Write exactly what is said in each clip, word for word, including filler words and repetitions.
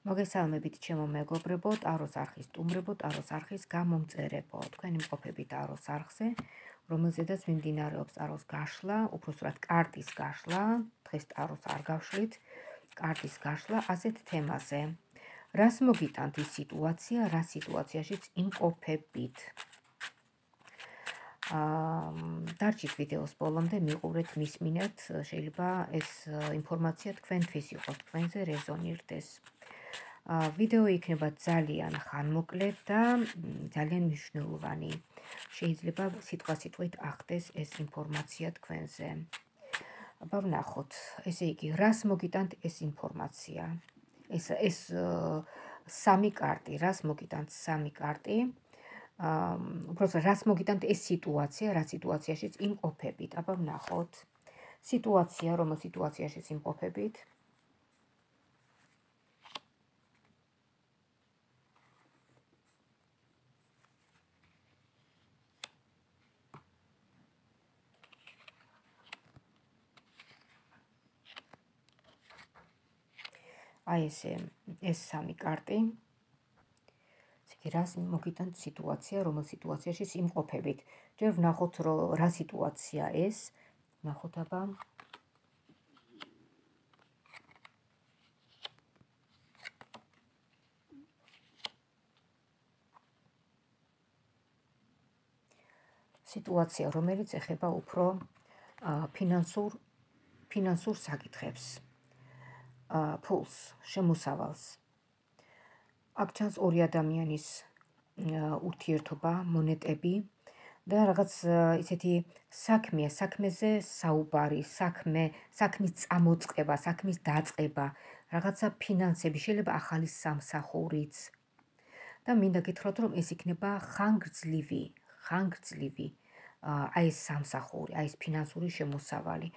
მოგესალმებით ჩემო მეგობრებო, ტაროს არხის სტუმრებო, ტაროს არხის გამომწერებო. თქვენ იმყოფებით ტაროს არხზე, რომელზედაც მიმდინარეობს ტაროს გაშლა, უпроსტად კარტის გაშლა, დღეს ტაროს არ გავშლით, კარტის გაშლა ასეთ თემაზე. რას მოგიტანთ ის სიტუაცია, რა სიტუაციაშიც იმყოფებით? დარჩით ვიდეოს ბოლომდე, მიყურეთ, მისმინეთ, შეიძლება ეს ინფორმაცია თქვენთვის იყოს, თქვენზე რეზონირდეს. ვიდეო იქნება ძალიან ხანმოკლე და ძალიან მნიშვნელოვანი. შეიძლება სიტყვა-სიტყვით ახდეს ეს ინფორმაცია თქვენზე. აბა ვნახოთ, ესე იგი, რას მოგიტანთ ეს ინფორმაცია? ეს ეს სამი კარტი, რას მოგიტანთ სამი კარტი? უბრალოდ რას მოგიტანთ ეს სიტუაცია, რა სიტუაციაშიც იმყოფებით? აბა ვნახოთ. სიტუაცია, რომელ სიტუაციაშიც იმყოფებით? აი ესე, ეს სამი კარტი. რას მოგიტანთ სიტუაცია, რომელ სიტუაციაში იმყოფებით? ჯერ ვნახოთ, რომ რა სიტუაცია ეს. ვნახოთ აბა. სიტუაცია, რომელიც ეხება უფრო ფინანსურ ფინანსურ საკითხებს. ფულს, შემოსავალს. აქ ჩანს ორი ადამიანის ურთიერთობა, მონეტები და რაღაც ისეთი საქმეა, საქმეზე საუბარი, საქმე, საქმის წამოწყება, საქმის დაწყება, რაღაცა ფინანსები, შეიძლება ახალი სამსახურიც. და მინდა გითხრათ, რომ ეს იქნება ხანგრძლივი, ხანგრძლივი აი ეს სამსახური, აი ეს ფინანსური შემოსავალი.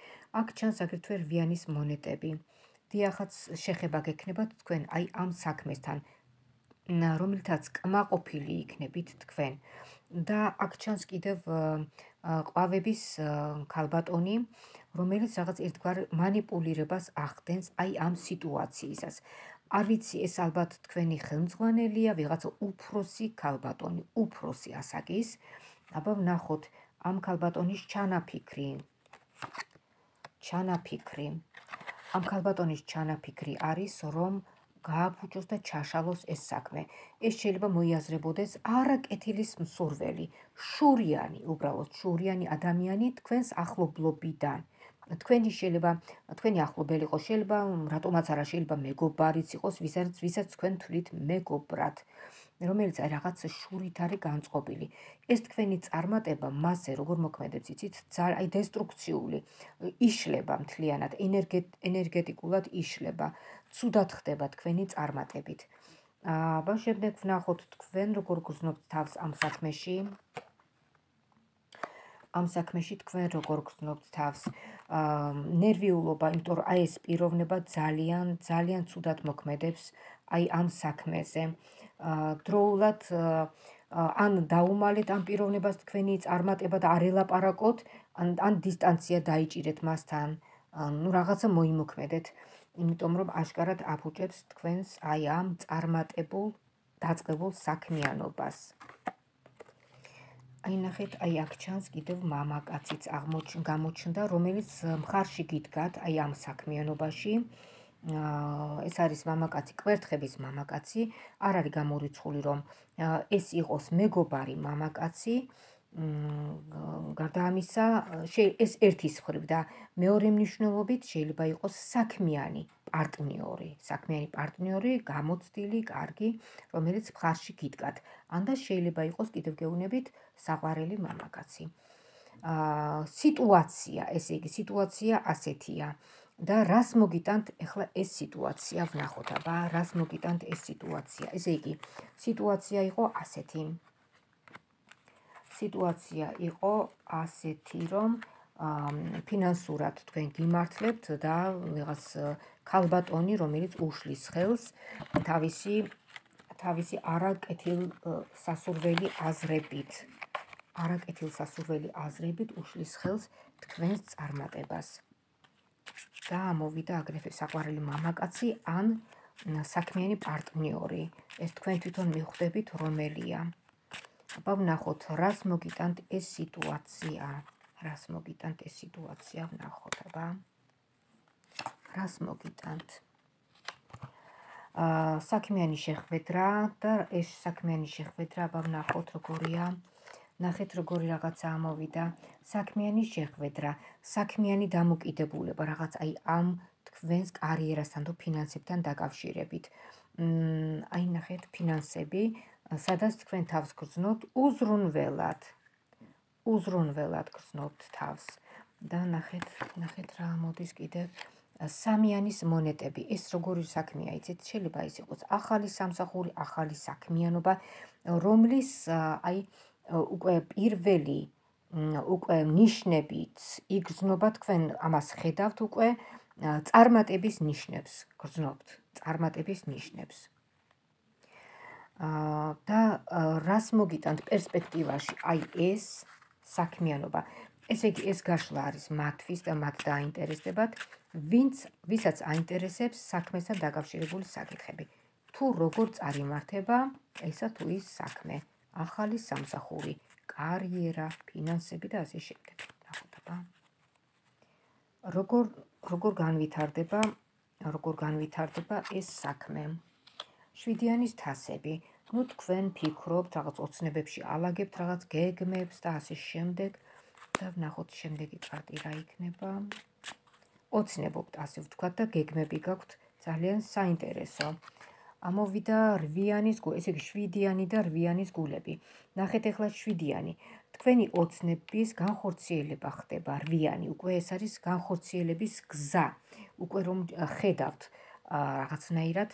აქ ჩანს აგრეთვე რვიანის მონეტები. დიახაც შეხება გექნებათ თქვენ აი ამ საქმესთან, რომელთაც კმაყოფილი იქნებით თქვენ. და აქ ჩანს კიდევ ყვავების ქალბატონი, რომელიც რაღაც ერთგვარ მანიპულირებას ახდენს აი ამ სიტუაციისას. არ ვიცი, ეს ალბათ თქვენი ხელმძღვანელია, ვიღაცა უფროსი ქალბატონი, უფროსი ასაკის. აბა ვნახოთ ამ ქალბატონის ჩანაფიქრი. ჩანაფიქრი. ამ ქალბატონის ჩანაფიქრი არის, რომ გააფუჭოს და ჩაშალოს ეს საქმე. ეს შეიძლება მოიაზრებოდეს არაკეთილის მსურველი, შურიანი, უბრალოდ შურიანი ადამიანი თქვენს ახლობლობიდან. თქვენი შეიძლება, თქვენი ახლობელი იყოს, შეიძლება, რატომაც არა, შეიძლება მეგობარიც იყოს, ვისაც ვისაც თქვენ თვლით მეგობრად, რომელიც რაღაც შურით არის განწყობილი. ეს თქვენი წარმატება მასზე როგორ მოქმედებს, იცით, აი დესტრუქციული, იშლება მთლიანად, ენერგეტიკულად იშლება, ცუდად ხდება თქვენი წარმატებით. აბა შემდეგ ვნახოთ თქვენ როგორ გრძნობთ თავს ამ საქმეში. ამ საქმეში თქვენ როგორ გრძნობთ თავს. ნერვიულობა, იმიტომ რომ აი ეს პიროვნება ძალიან, ძალიან ცუდად მოქმედებს აი ამ საქმეზე. დროულად ან დაუმალეთ ამ პიროვნებას თქვენი წარმატება და არ ელაპარაკოთ, ან ან დისტანცია დაიჭირეთ მასთან, ну რაღაცა მოიმოქმედეთ, იმიტომ რომ აშკარად აფუჭებს თქვენს აი ამ წარმატებულ, დაწყებულ საქმიანობას. აი ნახეთ, აი აქ ჩანს კიდევ მამაკაციც გამოჩნდა, რომელიც მხარში გიდგათ აი ამ საქმიანობაში. ეს არის მამაკაცი, კვერთხების მამაკაცი, არ არის გამორიცხული, რომ ეს იყოს მეგობარი მამაკაცი. გარდა ამისა, ეს ერთის მხრივ და მეორე მნიშვნელობით შეიძლება იყოს საქმიანი პარტნიორი, საქმიანი პარტნიორი, გამოცდილი, კარგი, რომელიც მხარში გიდგათ. ან და შეიძლება იყოს კიდევ გეუბნებით საყვარელი მამაკაცი. სიტუაცია, ესე იგი, სიტუაცია ასეთია. და რას მოგიტანთ ახლა ეს სიტუაცია? ვნახოთ აბა, რას მოგიტანთ ეს სიტუაცია? ესე იგი, სიტუაცია იყო ასეთი. სიტუაცია იყო ასეთი, რომ ფინანსურად თქვენ გიმართლებთ და ვიღაც ქალბატონი, რომელიც უშლის ხელს თავისი თავისი არაკეთილ სასურველი აზრებით. არაკეთილ სასურველი აზრებით უშლის ხელს თქვენს წარმატებას. და ამოვიდა აგრეთვე საყვარელი მამაკაცი, ან საქმიანი პარტნიორი. ეს თქვენ თვითონ მიხვდებით რომელია. აბა ვნახოთ, რას მოგიტანთ ეს სიტუაცია. რას მოგიტანთ ეს სიტუაცია, ვნახოთ, აბა. რას მოგიტანთ? საქმიანი შეხვედრა და ეს საქმიანი შეხვედრა, აბა ვნახოთ როგორია. ნახეთ როგორი რაღაცა ამოვიდა. საქმიანი შეხვედრა, საქმიანი დამოკიდებულება, რაღაც აი ამ თქვენს კარიერასთან თუ ფინანსებთან დაკავშირებით. აი ნახეთ ფინანსები, სადაც თქვენ თავს გრძნობთ უზრუნველად. უზრუნველად გრძნობთ თავს. და ნახეთ, ნახეთ რა მოდის კიდევ. სამიანის მონეტები. ეს როგორი საქმეა, იცით, შეიძლება ის იყოს ახალი სამსახური, ახალი საქმიანობა, რომლის აი უკვე პირველი უკვე ნიშნებით იგრძნობა, თქვენ ამას ხედავთ უკვე წარმატების ნიშნებს გრძნობთ, წარმატების ნიშნებს. და რას მოგიტანთ პერსპექტივაში აი ეს საქმიანობა. ესე იგი ეს გაშლა არის მათთვის და მათ დაინტერესდებათ, ვინც ვისაც აინტერესებს საქმესთან დაკავშირებული საკითხები. თუ როგორ წარიმართება ესა თუ ის საქმე, ახალი სამსახური, კარიერა, ფინანსები და ასე შემდეგ. ნახოთ აბა. როგორ როგორ განვითარდება, როგორ განვითარდება ეს საქმე. შვიდიანის თასები. ნუ თქვენ ფიქრობთ, რაღაც ოცნებებში ალაგებთ რაღაც გეგმებს და ასე შემდეგ. და ვნახოთ შემდეგი კარტი რა იქნება. ოცნებობთ, ასე ვთქვათ და გეგმები გაქვთ ძალიან საინტერესო. ამოვიდა რვიანის გულები, ესე იგი შვიდიანი და რვიანის გულები. ნახეთ ახლა შვიდიანი. თქვენი ოცნების განხორციელება ხდება, რვიანი, უკვე ეს არის განხორციელების გზა. უკვე რომ ხედავთ რაღაცნაირად,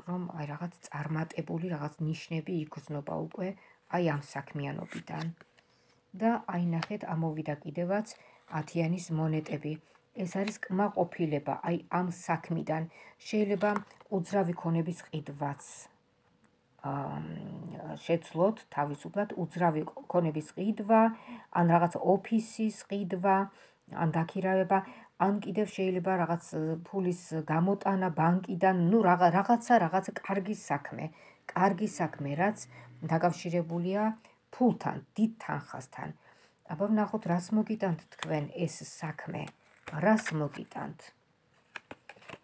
რომ აი რაღაც წარმატებული რაღაც ნიშნები იგრძნობა უკვე აი ამ საქმიანობიდან. და აი ნახეთ ამოვიდა კიდევაც ათიანის მონეტები. ეს არის კმაყოფილება აი ამ საქმიდან. შეიძლება უძრავი ქონების ყიდვაც შეცვლოთ თავისუფლად, უძრავი ქონების ყიდვა, ან რაღაც ოფისის ყიდვა, ან დაქირავება, ან კიდევ შეიძლება რაღაც ფულის გამოტანა ბანკიდან, ნუ რაღაცა რაღაცა კარგი საქმე, კარგი საქმე, რაც დაკავშირებულია ფულთან, დიდ თანხასთან. აბა ვნახოთ, რას მოგიტანთ თქვენ ეს საქმე. რას მოგიტანთ?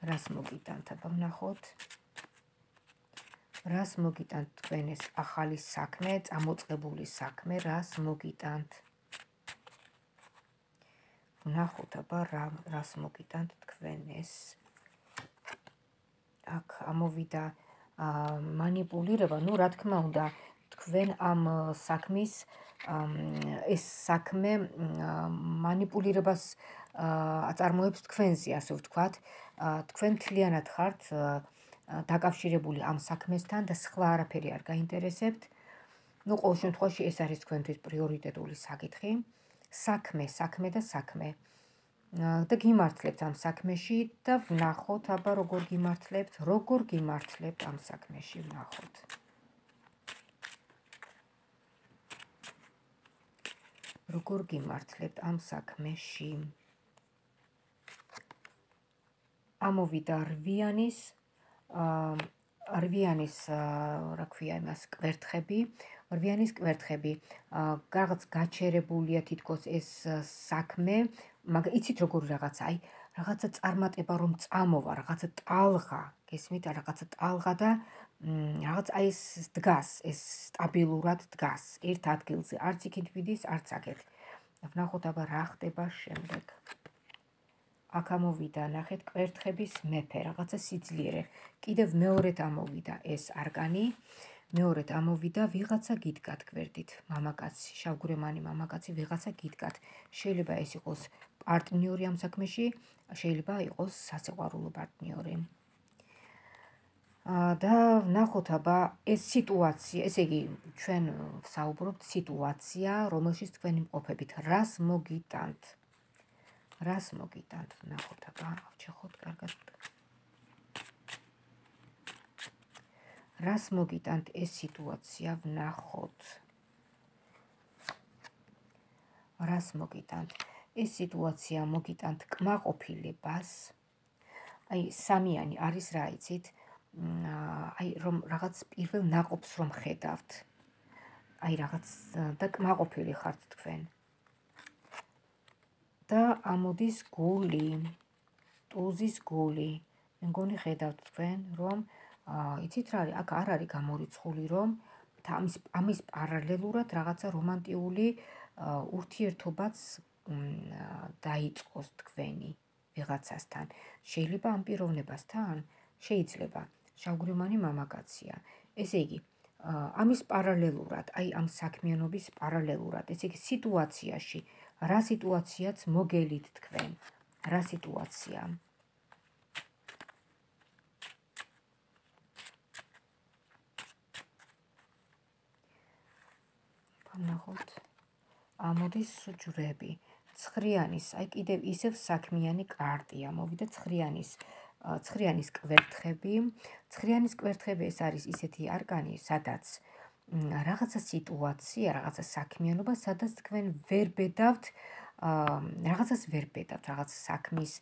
რას მოგიტანთ? აბა ვნახოთ. რას მოგიტანთ თქვენ ეს ახალი საქმე, წამოწყებული საქმე, რას მოგიტანთ? ვნახოთ აბა რა რას მოგიტანთ თქვენ ეს. აქ ამოვიდა მანიპულირება, ნუ რა თქმა უნდა, თქვენ ამ საქმის ეს საქმე მანიპულირებას აწარმოებს თქვენზე, ასე ვთქვათ. თქვენ მთლიანად ხართ დაკავშირებული ამ საქმესთან და სხვა არაფერი არ გაინტერესებთ. ნუ ყოველ შემთხვევაში ეს არის თქვენთვის პრიორიტეტული საკითხი. საქმე, საქმე და საქმე. და გიმართლებთ ამ საქმეში და ვნახოთ აბა როგორ გიმართლებთ, როგორ გიმართლებთ ამ საქმეში, ვნახოთ. როგორ გიმართლებთ ამ საქმეში. ამოვიდა რვიანის რვიანის რა ქვია იმას კვერთხები, რვიანის კვერთხები. რაღაც გაჩერებულია თითქოს ეს საქმე, მაგრამ იცით როგორი რაღაცა, აი რაღაცა წარმატება რომ წამოვა, რაღაცა ტალღა, გესმით, რაღაცა ტალღა და რაღაც აი ეს დგას, ეს სტაბილურად დგას ერთ ადგილზე, არც იქით ვიდის, არც აქეთ. ვნახოთ აბა რა ხდება შემდეგ. აქ ამოვიდა, ნახეთ, კვერთხების მეფე, რაღაცა სიძლიერე. კიდევ მეორედ ამოვიდა ეს არკანი, მეორედ ამოვიდა ვიღაცა გიდგათ გვერდით, მამაკაცი, შავგურემანი მამაკაცი, ვიღაცა გიდგათ. შეიძლება ეს იყოს პარტნიორი ამ საქმეში, შეიძლება იყოს სასიყვარულო პარტნიორი. და ვნახოთ აბა ეს სიტუაცია, ესე იგი ჩვენ ვსაუბრობთ სიტუაცია, რომელშიც თქვენ იმყოფებით, რას მოგიტანთ? რას მოგიტანთ? ვნახოთ აბა, ავჭეხოთ კარგად. რას მოგიტანთ ეს სიტუაცია, ვნახოთ. რას მოგიტანთ? ეს სიტუაცია მოგიტანთ კმაყოფილებას, აი სამიანი არის რა იცით? აი რომ რაღაც პირველ ნაყოფს რომ ხედავთ. აი რაღაც და კმაყოფილი ხართ თქვენ. და ამოდის გული, ტუზის გული. მე მგონი ხედავთ თქვენ, რომ იცით რა არის, აქ არ არის გამორიცხული, რომ ამის ამის პარალელურად რაღაცა რომანტიული ურთიერთობაც დაიწყოს თქვენი ვიღაცასთან. შეიძლება ამ პიროვნებასთან? შეიძლება. შავგვრემანი მამაკაცია. ესე იგი, ამის პარალელურად, აი ამ საქმიანობის პარალელურად, ესე იგი სიტუაციაში, რა სიტუაციაც მოგელით თქვენ? რა სიტუაცია? ნახოთ. ამოდის ჯვრები. ცხრიანის, აი კიდევ ისევ საქმიანი კარტია. მოვიდა ცხრიანის, ცხრიანის კვერთხები. ცხრიანის კვერთხები ეს არის ისეთი არკანი, სადაც რაღაცა სიტუაცია, რაღაცა საქმიანობა, სადაც თქვენ ვერ ბედავთ, რაღაცას ვერ ბედავთ, რაღაც საქმის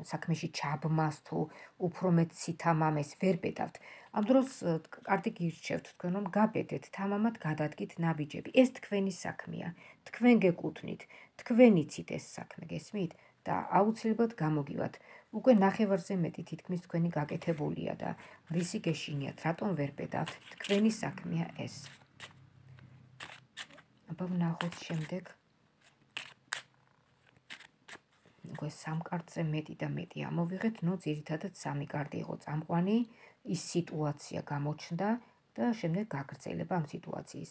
საქმეში ჩაბმას თუ უფრო მეტ სითამამეს ვერ ბედავთ. ამ დროს კარტი გირჩევთ თქვენ რომ გაბედეთ, თამამად გადადგით ნაბიჯები. ეს თქვენი საქმეა. თქვენ გეკუთვნით, თქვენ იცით ეს საქმე, გესმით? და აუცილებლად გამოგივათ. უკვე ნახევარზე მეტი თითქმის თქვენი გაკეთებულია და რისი გეშინიათ, რატომ ვერ ბედავთ? თქვენი საქმეა ეს. აბა ვნახოთ შემდეგ. უკვე სამ კარტზე მეტი და მეტი ამოვიღეთ, ნუ ძირითადად სამი კარტი იყო წამყვანი, ის სიტუაცია გამოჩნდა და შემდეგ გაგრძელება ამ სიტუაციის.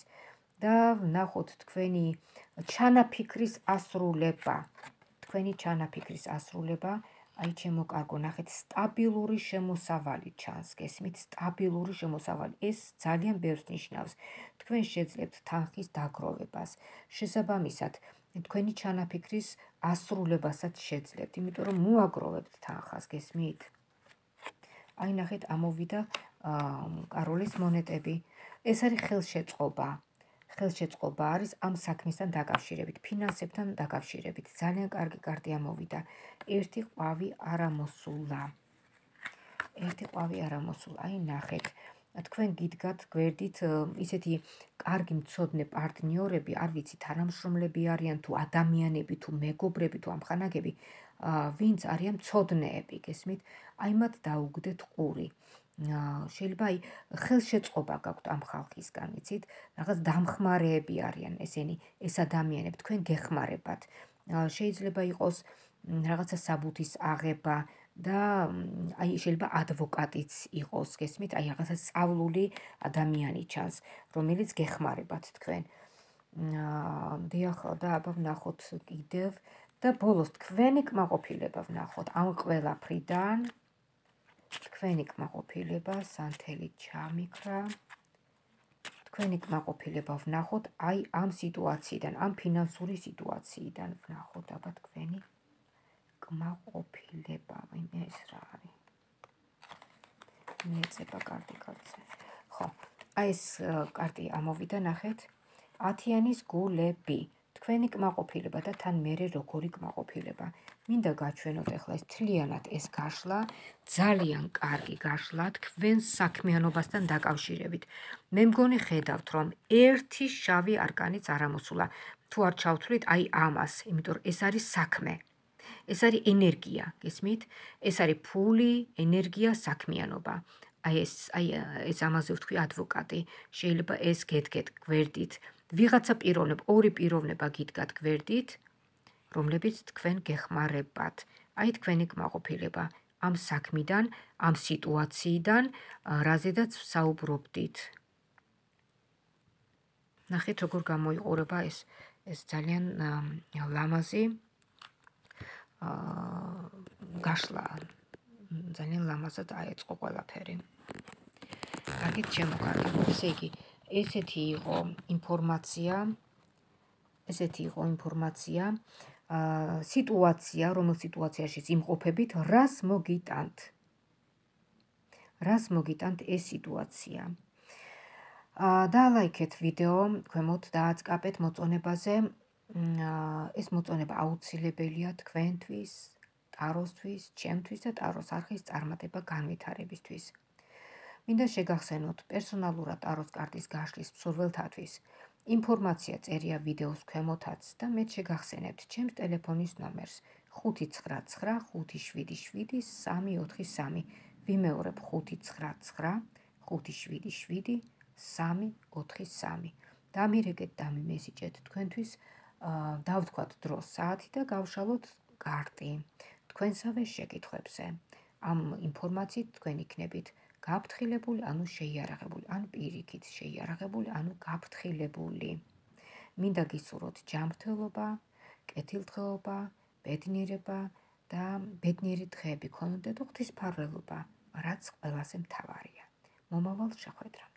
და ვნახოთ თქვენი ჩანაფიქრის ასრულება. თქვენი ჩანაფიქრის ასრულება, აი ჩემო კარგო, ნახეთ, სტაბილური შემოსავალი ჩანს, გესმით? სტაბილური შემოსავალი. ეს ძალიან ბევრს ნიშნავს. თქვენ შეძლებთ თანხის დაგროვებას. შესაბამისად, თქვენი ჩანაფიქრის ასრულებასაც შეძლებთ, იმიტომ რომ მოაგროვებთ თანხას, გესმით? აი ნახეთ, ამოვიდა კაროლის მონეტები. ეს არის ხელშეწყობა. ხელშეწყობა არის ამ საქმისთან დაკავშირებით, ფინანსებთან დაკავშირებით. ძალიან კარგი კარტი ამოვიდა. ერთი ყვავი არ ამოსულა. ერთი ყვავი არ ამოსულა. აი ნახეთ. თქვენ გიდგათ გვერდით ისეთი კარგი მცოდნე პარტნიორები, არ ვიცი, თანამშრომლები არიან თუ ადამიანები თუ მეგობრები თუ ამხანაგები, ვინც არიან მცოდნეები, გესმით? აი მათ დაუგდეთ ყური. შეიძლება აი ხელშეწყობა გაქვთ ამ ხალხისგან, იცით? რაღაც დამხმარეები არიან ესენი, ეს ადამიანები, თქვენ გეხმარებათ. შეიძლება იყოს რაღაცა საბუთის აღება და აი შეიძლება ადვოკატიც იყოს, გესმით? აი რაღაცა სწავლული ადამიანი ჩანს, რომელიც გეხმარებათ თქვენ. დიახ, და აბა ვნახოთ კიდევ და ბოლოს თქვენი კმაყოფილება ვნახოთ ამ ყველაფრიდან. თქვენი კმაყოფილება სანთელი ჩამიქრა. თქვენი კმაყოფილება ვნახოთ აი ამ სიტუაციიდან, ამ ფინანსური სიტუაციიდან ვნახოთ აბა თქვენი კმაყოფილება. ეს რა არის? მეწება კარტი კარტზე. ხო, აი ეს კარტი ამოვიდა, ნახეთ. ათიანის გულები. თქვენი კმაყოფილება და თან მერე როგორი კმაყოფილება. მინდა გაჩვენოთ ახლა ეს თლიანად ეს გაშლა, ძალიან კარგი გაშლა თქვენ საქმიანობასთან დაკავშირებით. მე მგონი ხედავთ, რომ ერთი შავი არკანიც არ ამოსულა. თუ არ ჩავთვლით აი ამას, იმიტომ რომ ეს არის საქმე. ეს არის ენერგია, გესმით? ეს არის ფული, ენერგია, საქმიანობა. აი ეს აი ეს ამაზე ვთქვი ადვოკატი. შეიძლება ეს გედგეთ გვერდით. ვიღაცა პიროვნება, ორი პიროვნება გიდგათ გვერდით, რომლებიც თქვენ გეხმარებათ. აი თქვენი კმაყოფილება ამ საქმიდან, ამ სიტუაციიდან, რაზედაც საუბრობდით. ნახეთ, როგორ გამოიყურება ეს ეს ძალიან ლამაზი გაშლა. ძალიან ლამაზად აეწყო ყველაფერი. კარგით შემოკარგეთ. ესე იგი, ესეთი იყო ინფორმაცია, ესეთი იყო ინფორმაცია, სიტუაცია, რომელ სიტუაციაში იმყოფებით, რას მოგიტანთ. რას მოგიტანთ ეს სიტუაცია. დალაიქეთ ვიდეო, ქვემოთ დააწყაპეთ მოწონებაზე. ეს მოწონება აუცილებელია თქვენთვის. ტაროსთვის, ჩემთვის და ტაროს არხის წარმატება განვითარებისთვის. მინდა შეგახსენოთ პერსონალურად ტაროს კარტის გაშლის მსურველთათვის ინფორმაცია წერია ვიდეოს ქვემოთაც და მე შეგახსენებთ ჩემს ტელეფონის ნომერს ხუთი ცხრა ცხრა ხუთი შვიდი შვიდი სამი ოთხი სამი. ვიმეორებ ხუთი ცხრა ცხრა ხუთი შვიდი შვიდი სამი ოთხი სამი. დამირეკეთ, დამიმესიჯეთ თქვენთვის, დავთქვათ დროს საათი და გავშალოთ კარტი თქვენსავე შეკითხვებზე. ამ ინფორმაციით თქვენ იქნებით გაფრთხილებული, ანუ შეიარაღებული, ან პირიქით შეიარაღებული, ანუ გაფრთხილებული. მინდა გისურვოთ ჯანმრთელობა, კეთილდღეობა, ბედნიერება და ბედნიერი დღეები გქონოდეთ და ღვთისმფარველობა, რაც ყველაზე მთავარია. მომავალ შეხვედრამდე.